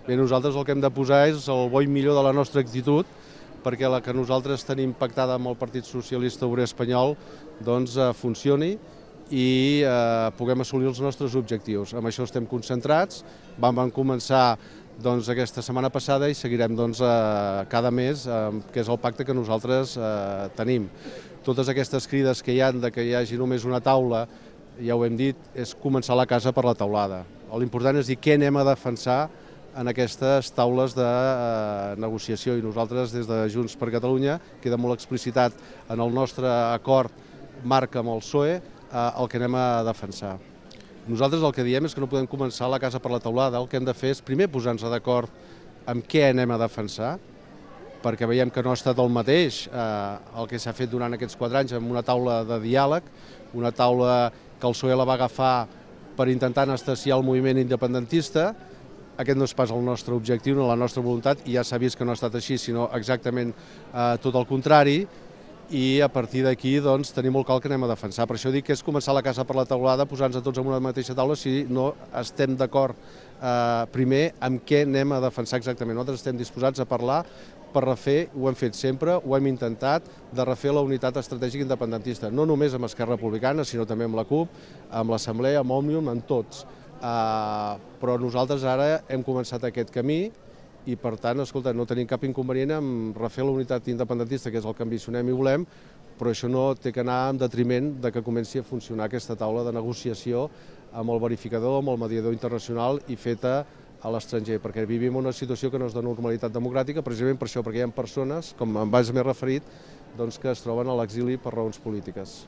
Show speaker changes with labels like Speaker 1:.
Speaker 1: Bé, nosaltres el que hem de posar és el bo i millor de la nostra actitud perquè la que nosaltres tenim pactada amb el Partit Socialista Obrer Espanyol doncs funcioni i puguem assolir els nostres objectius. Amb això estem concentrats, vam començar aquesta setmana passada i seguirem cada mes, que és el pacte que nosaltres tenim. Totes aquestes crides que hi ha de que hi hagi només una taula, ja ho hem dit, és començar la casa per la teulada. L'important és dir què anem a defensar en aquestes taules de negociació i nosaltres des de Junts per Catalunya queda molt explicitat en el nostre acord marc amb el PSOE el que anem a defensar. Nosaltres el que diem és que no podem començar la casa per la teulada, el que hem de fer és primer posar-nos d'acord amb què anem a defensar, perquè veiem que no ha estat el mateix el que s'ha fet durant aquests 4 anys amb una taula de diàleg, una taula que el PSOE la va agafar per intentar anestesiar el moviment independentista. Aquest no és pas el nostre objectiu, no la nostra voluntat, i ja s'ha vist que no ha estat així, sinó exactament tot el contrari, i a partir d'aquí tenim molt clar el que anem a defensar. Per això dic que és començar la casa per la teulada, posar-nos tots en una mateixa taula si no estem d'acord primer amb què anem a defensar exactament. Nosaltres estem disposats a parlar per refer, ho hem fet sempre, ho hem intentat, de refer la unitat estratègica independentista, no només amb Esquerra Republicana, sinó també amb la CUP, amb l'Assemblea, amb Òmnium, amb tots. Però nosaltres ara hem començat aquest camí i per tant, escolta, no tenim cap inconvenient en refer la unitat independentista, que és el que ambicionem i volem, però això no té que anar en detriment de que comenci a funcionar aquesta taula de negociació amb el verificador, amb el mediador internacional i feta a l'estranger, perquè vivim una situació que no és de normalitat democràtica, precisament per això, perquè hi ha persones, com m'he referit, que es troben a l'exili per raons polítiques.